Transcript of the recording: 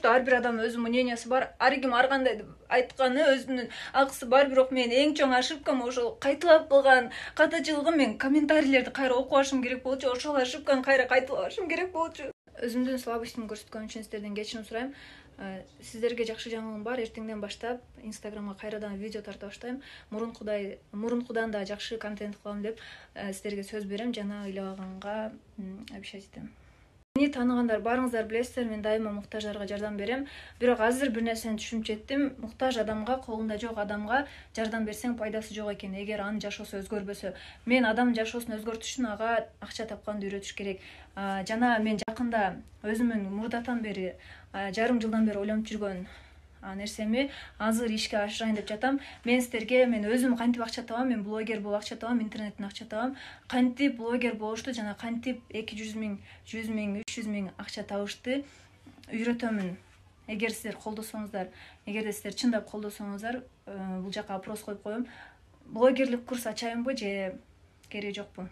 что ар бир адамдын өзүнүн мнениясы бар, ар ким ар кандай айтканы өзүнүн акысы бар. Бирок мен эң чоң ошибкам ошол кайталап кылган катачылыгым. Мен комментарийлерди кайра окуп алышым керек болчу, ошол ошибканы кайра кайталабашым керек болчу. Өзүмдүн слабостьтимди көрсөткөнүм үчүн сиздерден кечирим сурайм. Сиздерге жакшы жаңылыгым бар. Эртеңден баштап Инстаграмга кайрадан видео тарта баштайм. Мурункудан да жакшы контент кылам деп сиздерге сөз берем. Жана ыйлабаганга обещать этем. Мени тааныгандар баарыңыздар билесиздер, мен дайыма муктаждарга жардам берем. Бирок азыр бир нерсени түшүнүп жеттим. Муктаж адамга, колунда жок адамга жардам берсең пайдасы жок экен, эгер анын жашоосу өзгөрбөсө. Мен адамдын жашоосун өзгөртүш үчүн ага акча тапканды үйрөтүш керек. Жана мен жакында өзүмүн мурдатан бери, жарым жылдан бери ойлонуп жүргөн нерсеми азыр ишке ашырайын деп жатам. Мен өзүм кантип акча табам, мен блогер болуп акча табам, интернеттен акча табам. Кантип блогер болушту жана кантип 200 миң, 100 миң, 300 миң акча табышты үйрөтөмүн. Эгер сиздер колдосоңуздар, эгерде сиздер чындап колдосоңуздар, бул жака опрос коюп коем. Блогерлик курс ачайынбы же кереги жокпу?